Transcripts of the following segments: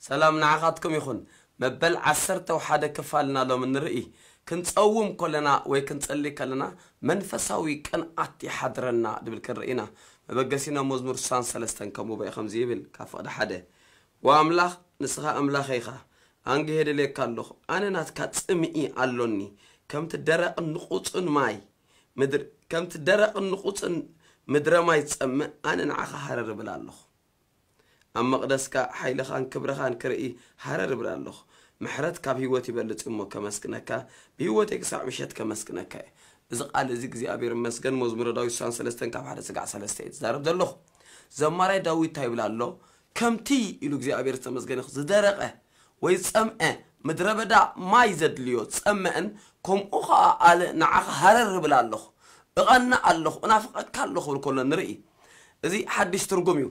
ሰላም ንዓኻትኩም ይኹን። መበል ዓሰርተ ሓደ ክፋልና ሎም ንርኢ። ክንጸውም ከለና ወይ ክንጸሊ ከለና መንፈሳዊ ቅንኣት ይሓድረና ድብል ክንርኢ ኢና። መበገሲና መዝሙር ስሳን ሰለስተን ከምኡ በይ ከምዚ ይብል፣ ካብ ፍቕዲ ሓደ፣ "ወኣምላኽ ንስኻ ኣምላኸይ ኢኻ፣ ኣንግሄ ደልየካ ኣለኹ፣ ኣነ ናትካ ጽምኢ ኣሎኒ፣ ከምቲ ደረቕን ንቑጽን ማይ ምድር-፣ ከምቲ ደረቕን ንቑጽን ምድረ ማይ ዝጸምእ፣ ኣነ ንዓኻ ሃረር እብል ኣለኹ። ኣብ መቕደስካ ሓይልኻን ክብርኻን ክርኢ ሃረር እብል ኣለኹ። ምሕረት ካብ ህይወት ይበልጽ እሞ ከመስግነካ፣ ብህይወተይ ክሳዕ ምሸት ከመስግነካ እየ።" እዚ ቃል እዚ እግዚኣብሔር ይመስገን፣ መዝሙረ ዳዊት ስሳን ሰለስተን ካብ ሓደ ስጋዕ ሰለስተ እየ ዝዛረብ ዘለኹ። ዘማራይ ዳዊት እንታይ ይብል ኣሎ? "ከምቲ" ኢሉ እግዚኣብሔር ዝተመስገነ ይኹን፣ "ዝደረቐ ወይ ዝጸምአ ምድረ በዳ ማይ ዘድልዮ ዝጸምእን ከምኡ ኸዓ ኣነ ንዓኻ ሃረር እብል ኣለኹ፣ እቐንእ ኣለኹ፣ እናፍቐካ ኣለኹ" ክብል ከሎ ንርኢ። እዚ ሓድሽ ትርጉም እዩ።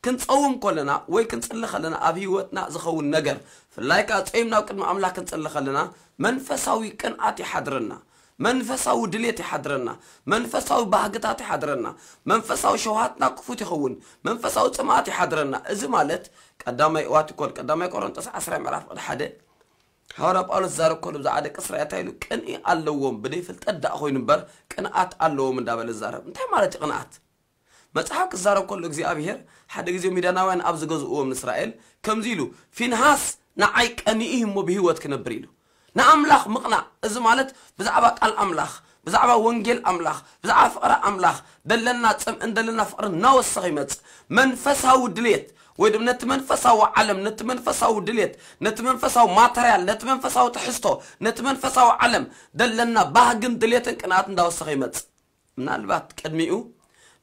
ክንጸውም ከለና ወይ ክንጽሊ ከለና ኣብ ህይወትና ዝኸውን ነገር፣ ብፍላይ ከኣ ጸይም ናብ ቅድሚ ኣምላኽ ክንጽሊ ከለና መንፈሳዊ ቅንኣት ይሓድረና፣ መንፈሳዊ ድሌት ይሓድረና፣ መንፈሳዊ ባህግታት ይሓድረና፣ መንፈሳዊ ሸውሃትና ክፉት ይኸውን፣ መንፈሳዊ ጽምኣት ይሓድረና። እዚ ማለት ቀዳማይ ዋቲኮል፣ ቀዳማይ ቆሮንጦስ ዓስራ ምዕራፍ ቅድ ሓደ፣ ሃዋርያ ጳውሎስ ዝዛረብ ከሎ ብዛዕባ ደቂ እስራኤል እንታይ ኢሉ? "ቅንኢ ኣለዎም፣ ብደይ ፍልጠት ደኣ ኮይኑ እምበር ቅንኣት ኣለዎም" እንዳበለ ዝዛረብ። እንታይ ማለት እዩ ቅንኣት? መጽሓፍ ክዛረብ ከሎ እግዚኣብሔር ሓደ ግዜ ሚዳናውያን ኣብ ዝገዝእዎም ንእስራኤል ከምዚ ኢሉ፣ "ፊንሃስ ንዓይ ቀንኢ እሞ ብህይወት ክነብር" ኢሉ። ንኣምላኽ ምቕናእ፣ እዚ ማለት ብዛዕባ ቃል ኣምላኽ፣ ብዛዕባ ወንጌል ኣምላኽ፣ ብዛዕባ ፍቕሪ ኣምላኽ ደለና ጽምእን ደለና ፍቕርን እናወሰኸ ይመጽእ። መንፈሳዊ ድሌት ወይ ድማ ነቲ መንፈሳዊ ዓለም፣ ነቲ መንፈሳዊ ድሌት፣ ነቲ መንፈሳዊ ማተርያል፣ ነቲ መንፈሳዊ ትሕዝቶ፣ ነቲ መንፈሳዊ ዓለም ደለና ባህግን ድሌትን ቅንኣት እንዳወሰኸ ይመጽእ። ምናልባት ቅድሚኡ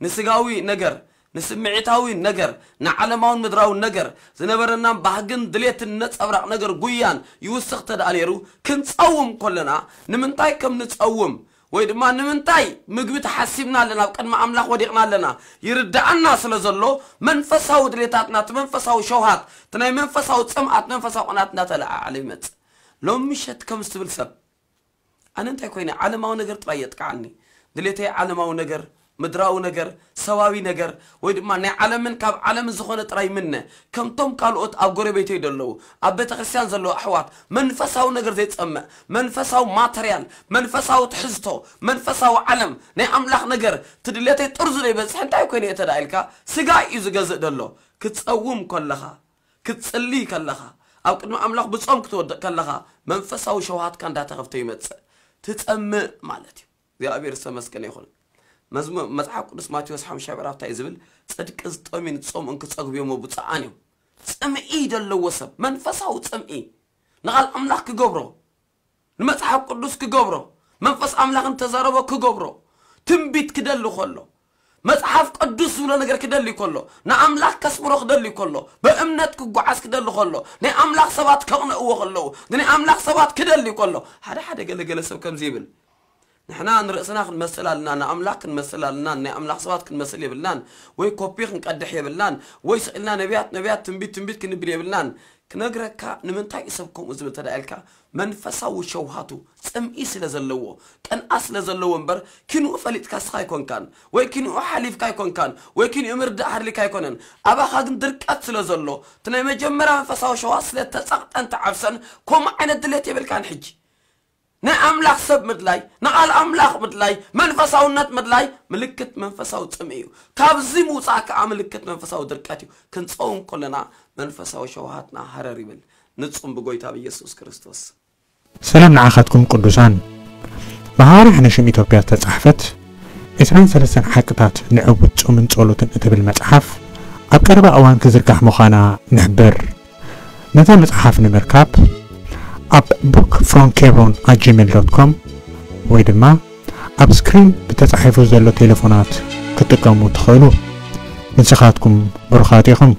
ንስጋዊ ነገር፣ ንስምዒታዊ ነገር፣ ንዓለማውን ምድራውን ነገር ዝነበረናን ባህግን ድሌትን ነጸብራቕ ነገር ጉያን ይውስኽ ተደኣ ነይሩ፣ ክንጸውም ከለና ንምንታይ ከም ንጸውም ወይ ድማ ንምንታይ ምግቢ ተሓሲብና ኣለና፣ ኣብ ቅድሚ ኣምላኽ ወዲቕና ኣለና ይርድኣና ስለ ዘሎ፣ መንፈሳዊ ድሌታትና፣ እቲ መንፈሳዊ ሸውሃት፣ እቲ ናይ መንፈሳዊ ጽምኣት፣ መንፈሳዊ ቅንኣት እንዳተለዓዓለ ይመጽእ። ሎም ምሸት ከምዚ ትብል ሰብ፣ ኣነ እንታይ ኮይነ? ዓለማዊ ነገር ጥራይ የጥቅዓኒ። ድሌተይ ዓለማዊ ነገር፣ ምድራዊ ነገር፣ ሰባዊ ነገር፣ ወይ ድማ ናይ ዓለምን ካብ ዓለምን ዝኾነ ጥራይ ምነ። ከምቶም ካልኦት ኣብ ጎረቤተይ ደለዉ፣ ኣብ ቤተ ክርስቲያን ዘለዉ ኣሕዋት፣ መንፈሳዊ ነገር ዘይጸምእ፣ መንፈሳዊ ማተርያል፣ መንፈሳዊ ትሕዝቶ፣ መንፈሳዊ ዓለም፣ ናይ ኣምላኽ ነገር፣ እቲ ድሌተይ ጥርዙ ዘይበጽሕ እንታይ ኮይነ እየ ተዳ ኢልካ፣ ስጋ እዩ ዝገዝእ ደሎ። ክትጸውም ከለኻ፣ ክትጽሊ ከለኻ፣ ኣብ ቅድሚ ኣምላኽ ብጾም ክትወድቕ ከለኻ፣ መንፈሳዊ ሸውሃትካ እንዳተኸፍተ ይመጽእ። ትጸምእ ማለት እዩ። እግዚኣብሔር ዝተመስገነ ይኹን። መዝሙ-፣ መጽሓፍ ቅዱስ ማቴዎስ ሓሙሽተ ምዕራፍ እንታይ እዩ ዝብል? "ጽድቂ ዝጠምዩን ዝጸምኡን ክጸግቡ እዮም ብፁዓን እዮም።" ጽምኢ ዘለዎ ሰብ፣ መንፈሳዊ ጽምኢ፣ ንቓል ኣምላኽ ክገብሮ፣ ንመጽሓፍ ቅዱስ ክገብሮ፣ መንፈስ ኣምላኽ እንተዛረቦ ክገብሮ፣ ትንቢት ክደሊ ከሎ፣ መጽሓፍ ቅዱስ ዝብሎ ነገር ክደሊ ከሎ፣ ንኣምላኽ ከስምሮ ክደሊ ከሎ፣ ብእምነት ክጓዓዝ ክደሊ ከሎ፣ ናይ ኣምላኽ ሰባት ከቕንእዎ ከለዉ፣ ንናይ ኣምላኽ ሰባት ክደሊ ከሎ፣ ሓደ ሓደ ገለ ገለ ሰብ ከምዚ ይብል፣ "ንሕና ንርእስና ክንመስል ኣለና፣ ንኣምላኽ ክንመስል ኣለና፣ ናይ ኣምላኽ ሰባት ክንመስል የብልናን፣ ወይ ኮፒ ክንቀድሕ የብልናን፣ ወይ ስቕ ኢልና ነቢያት፣ ነቢያት፣ ትንቢት፣ ትንቢት ክንብል የብልናን። ክነግረካ ንምንታይ እዩ ሰብ ከምኡ ዝብል?" ተዳ ኢልካ፣ መንፈሳዊ ሸውሃቱ ጽምኢ ስለ ዘለዎ፣ ቅንኣት ስለ ዘለዎ እምበር፣ ኪንኡ ፈሊጥካ ስኻ ኣይኮንካን፣ ወይ ኪንኡ ሓሊፍካ ኣይኮንካን፣ ወይ ኪንኡ ምርዳእ ሃድሊካ ኣይኮነን። ኣባኻ ግን ድርቀት ስለ ዘሎ፣ እቲ ናይ መጀመርያ መንፈሳዊ ሸውሃት ስለ ተጸቕጠን ተዓብሰን፣ ከምኡ ዓይነት ድሌት የብልካን። ሕጂ ናይ ኣምላኽ ሰብ ምድላይ፣ ንቓል ኣምላኽ ምድላይ፣ መንፈሳውነት ምድላይ ምልክት መንፈሳዊ ጽምኢ እዩ። ካብዚ ምውጻእ ከኣ ምልክት መንፈሳዊ ድርቀት እዩ። ክንጸውም ከለና መንፈሳዊ ሸውሃትና ሃረር ይብል። ንጹም ብጎይታ ብኢየሱስ ክርስቶስ። ሰላም ንዓኻትኩም ቅዱሳን። ብሃዋርያ ሕነ ሽም ኢትዮጵያ ዝተጻሕፈት ዕስራን ሰለስተን ሓቅታት ንዕዉት ጾምን ጸሎትን እትብል መጽሓፍ ኣብ ቀረባ እዋን ክዝርጋሕ ምዃና ንሕብር። ነዛ መጽሓፍ ንምርካብ ኣብ book from hebron at gmail dot com ወይ ድማ ኣብ ስክሪን ብተጻሒፉ ዘሎ ቴሌፎናት ክትጥቀሙ ትኽእሉ። ንስኻትኩም ብሩኻት ኢኹም።